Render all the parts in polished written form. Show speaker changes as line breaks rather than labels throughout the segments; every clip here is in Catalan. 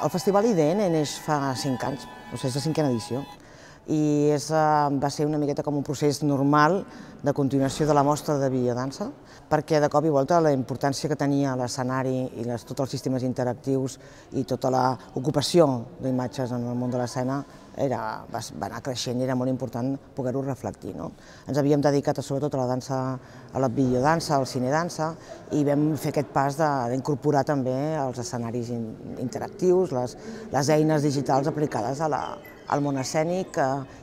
El Festival IDN neix fa 5 anys, és la 5a edició, i va ser una miqueta com un procés normal de continuació de la mostra de biodansa, perquè de cop i volta la importància que tenia l'escenari i tots els sistemes interactius i tota l'ocupació d'imatges en el món de l'escena va anar creixent i era molt important poder-ho reflectir. Ens havíem dedicat sobretot a la dansa, a la biodansa, al cinedansa, i vam fer aquest pas d'incorporar també els escenaris interactius, les eines digitals aplicades al món escènic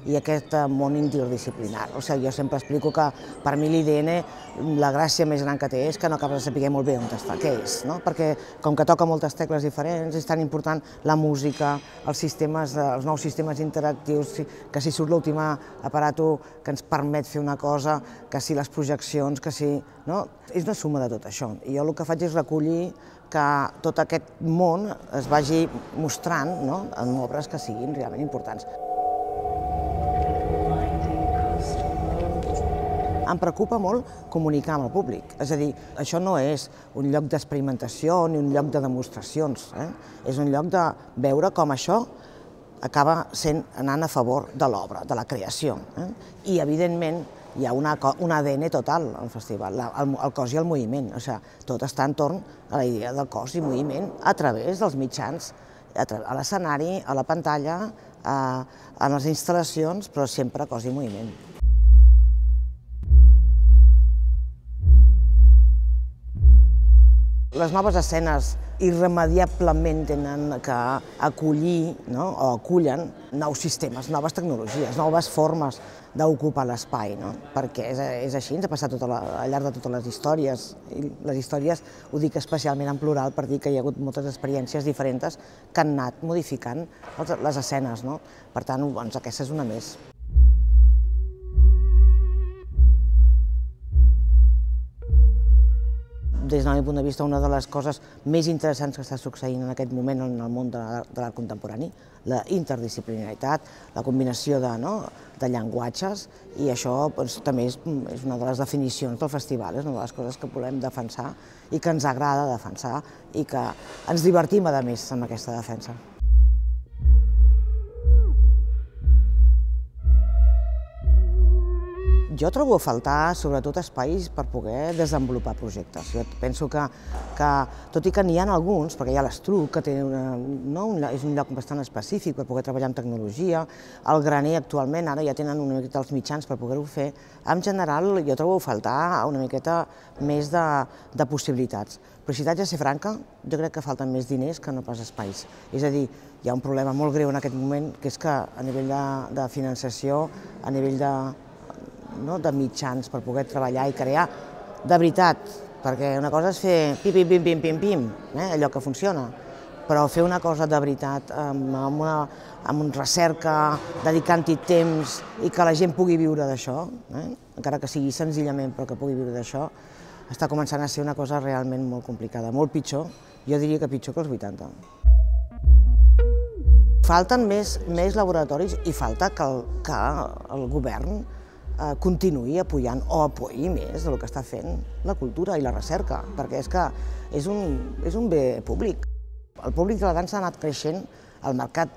i aquest món interdisciplinar. O sigui, jo sempre explico que per mi l'IDN la gràcia més gran que té és que no acabes de saber molt bé on està, què és, perquè com que toca moltes tecles diferents és tan important la música, els nous sistemes interactius, que si surt l'últim aparato que ens permet fer una cosa, que si les projeccions, que si... És una suma de tot això. I jo el que faig és recollir que tot aquest món es vagi mostrant en obres que siguin realment importants. Em preocupa molt comunicar amb el públic, és a dir, això no és un lloc d'experimentació ni un lloc de demostracions, és un lloc de veure com això acaba anant a favor de l'obra, de la creació. I, evidentment, hi ha un ADN total al festival, el cos i el moviment. Tot està entorn a la idea del cos i moviment a través dels mitjans, a l'escenari, a la pantalla, a les instal·lacions, però sempre cos i moviment. Les noves escenes irremeiablement tenen que acollir o acullen nous sistemes, noves tecnologies, noves formes d'ocupar l'espai, perquè és així, ens ha passat al llarg de totes les històries, i les històries ho dic especialment en plural per dir que hi ha hagut moltes experiències diferents que han anat modificant les escenes. Per tant, aquesta és una més. Des del meu punt de vista, una de les coses més interessants que està succeint en aquest moment en el món de l'art contemporani, la interdisciplinaritat, la combinació de llenguatges, i això també és una de les definicions del festival, és una de les coses que volem defensar i que ens agrada defensar i que ens divertim, a més, amb aquesta defensa. Jo trobo a faltar, sobretot, espais per poder desenvolupar projectes. Jo penso que, tot i que n'hi ha alguns, perquè hi ha l'Estruc, que és un lloc bastant específic per poder treballar amb tecnologia, el Graner actualment ara ja tenen una miqueta els mitjans per poder-ho fer, en general jo trobo a faltar una miqueta més de possibilitats. Però si t'haig de ser franca, jo crec que falten més diners que no pas espais. És a dir, hi ha un problema molt greu en aquest moment, que és que a nivell de finançació, a nivell de mitjans per poder treballar i crear de veritat, perquè una cosa és fer pim-pim-pim-pim-pim, allò que funciona, però fer una cosa de veritat amb una recerca, dedicant-hi temps i que la gent pugui viure d'això, encara que sigui senzillament però que pugui viure d'això, està començant a ser una cosa realment molt complicada, molt pitjor, jo diria que pitjor que els 80. Falten més laboratoris i falta que el govern continuï apoyant o apoyi més del que està fent la cultura i la recerca, perquè és que és un bé públic. El públic de la dansa ha anat creixent, el mercat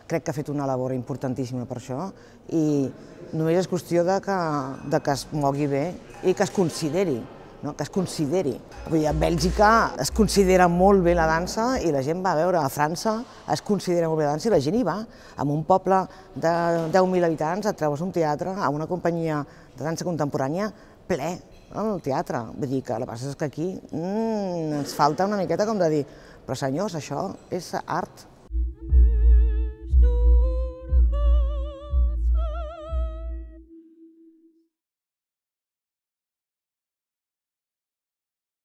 crec que ha fet una labor importantíssima per això i només és qüestió que es mogui bé i que es consideri. A Bèlgica es considera molt bé la dansa i la gent va a veure, a França es considera molt bé la dansa i la gent hi va. En un poble de 10.000 habitants et trobes un teatre amb una companyia de dansa contemporània ple al teatre. Vull dir que el que passa és que aquí ens falta una miqueta com de dir però senyors, això és art.